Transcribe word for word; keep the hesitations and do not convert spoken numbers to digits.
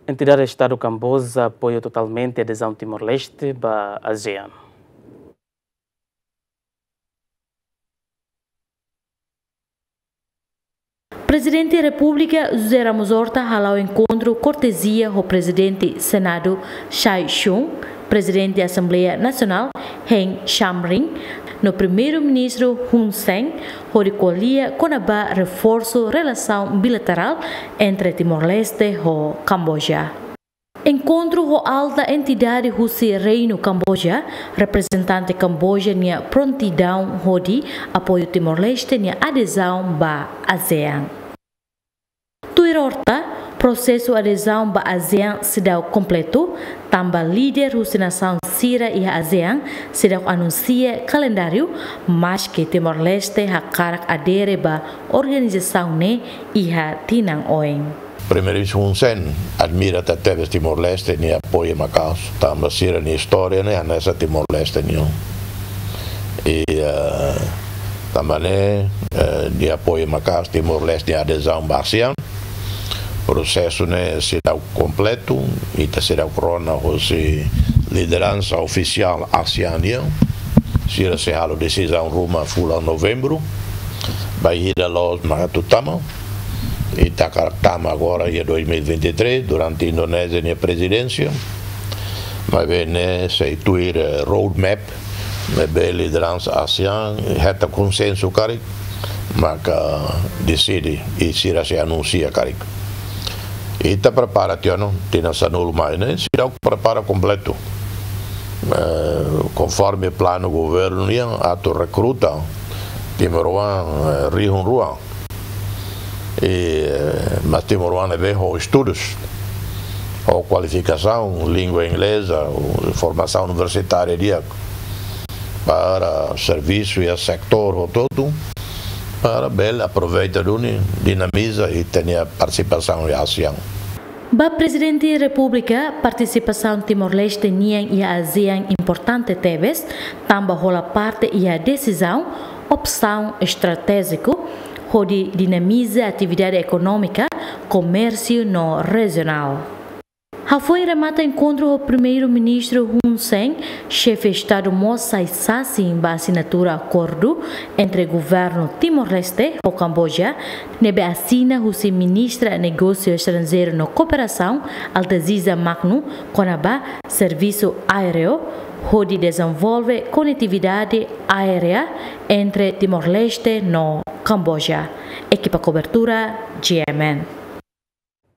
Entidade Estadu Kamboja apoia totalmente adezaun Timor-Leste ba ASEAN. Prezidente Repúblika José Ramos Horta hala'o enkontru kortezia ho Prezidente Senadu Choi Chun, Prezidente Asembleia Nasionál Heng Samrin, no Primeiru-Ministru Hun Sen, hodi ko'alia kona-ba reforsu relasaun bilaterál entre Timor-Leste ho Kamboja. Enkontru ho alta entidade husi Reinu Kamboja, reprezentante Kamboja nia prontidaun hodi apoiu Timor-Leste nia adezaun ba ASEAN. Tuir Horta, prosesu adezaun ba ASEAN seidauk kompletu, tanba líder husi nasaun sira iha ASEAN seidauk anunsia kalendáriu, maske Timor-Leste hakarak adere ba organizasaun ne'e iha tinan oin. Primeiru-Ministru Hun Sen admira tebes Timor-Leste nia apoiu maka'as, tanba sira-nia istória ne'e hanesan Timor-Leste nian. I, eh, tanba ne'e, eh, nia apoiu maka'as Timor-Leste nia adezaun ba ASEAN. Prosesu ne'e seidauk kompletu, ita seidauk rona hosi lideransa ofisiál ASEAN nian. Sira sei halo desizaun ruma fulan Novembru, bainhira loos mak atu tama. Ita hakarak tama agora iha dois mil e vinte e três, durante Indonézia nia prezidénsia. Maibé ne'e sei tuir, eh, roadmap ne'ebé lideransa ASEAN hetan konsensu karik, maka deside i sira sei anunsia karik. Ita prepara tiha ona, tinan sanulu mai ne'e, seidauk prepara kompletu. Eh, konforme planu governu nian atu rekruta timoroan, eh, rihun rua. I, eh, mas timoroan ne'ebé ho estudus, ho kualifikasaun, língua ingleza, ho formasaun universitária di'ak, para servisu iha setór hotu-hotu, para bele aproveita duni, dinamiza i tenke partisipasaun iha ASEAN. Ba Prezidente Repúblika, partisipasaun Timor-Leste nian iha ASEAN importante tebes, tanba hola parte iha desizaun, opsaun estratéjiku, hodi dinamiza atividade ekonómika, komérsiu no rejionál. Hafoin remata enkontru ho Primeiru-Ministru Hun Sen, Xefe Estadu mós sai sasin ba asinatura akordu entre Governu Timor-Leste ho Kamboja, ne'ebé asina husi Ministra Negósiu Estranjeiru no Kooperasaun, Altaziza Magno, kona-ba servisu aéreu, hodi dezenvolve konetividade aérea entre Timor-Leste no Kamboja. Ekipa kobertura, G M N.